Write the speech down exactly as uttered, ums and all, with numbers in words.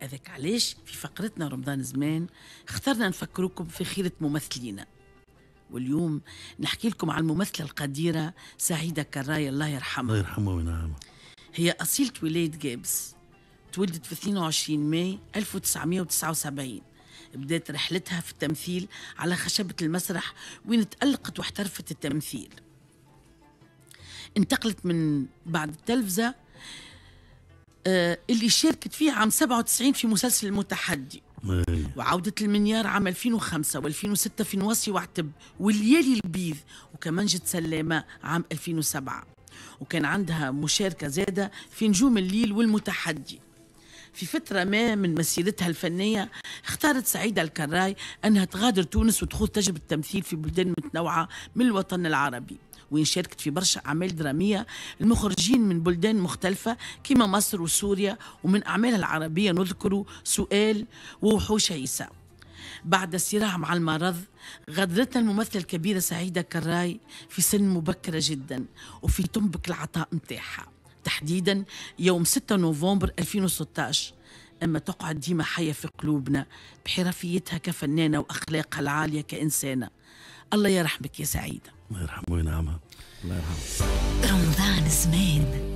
هذاك علاش في فقرتنا رمضان زمان اخترنا نفكركم في خيرة ممثلينا، واليوم نحكي لكم عن الممثلة القديرة سعيدة كراي الله يرحمها. الله يرحمها وينعمها. هي أصيلة ولاية جابس، تولدت في اثنين وعشرين ماي ألف وتسعمية وتسعة وسبعين. بدأت رحلتها في التمثيل على خشبة المسرح وين تألقت واحترفت التمثيل. انتقلت من بعد التلفزة آه اللي شاركت فيه عام سبعة وتسعين في مسلسل المتحدي، وعودت المنيار عام ألفين وخمسة وألفين وستة في نواصي وعتب والليالي البيض وكمنجة سلامة عام ألفين وسبعة، وكان عندها مشاركة زادة في نجوم الليل والمتحدي. في فترة ما من مسيرتها الفنية اختارت سعيدة الكراي أنها تغادر تونس وتخوض تجربة التمثيل في بلدان متنوعة من الوطن العربي، وين شاركت في برشا أعمال درامية المخرجين من بلدان مختلفة كما مصر وسوريا، ومن أعمالها العربية نذكر سؤال ووحوش عيسى. بعد الصراع مع المرض غادرتنا الممثلة الكبيرة سعيدة كراي في سن مبكرة جدا وفي تنبك العطاء متاعها، تحديدا يوم ستة نوفمبر ألفين وستاش. أما تقعد ديما حية في قلوبنا بحرفيتها كفنانة وأخلاقها العالية كإنسانة. الله يرحمك يا سعيدة. الله يرحمه وينعمها. الله يرحمه. رمضان زمان.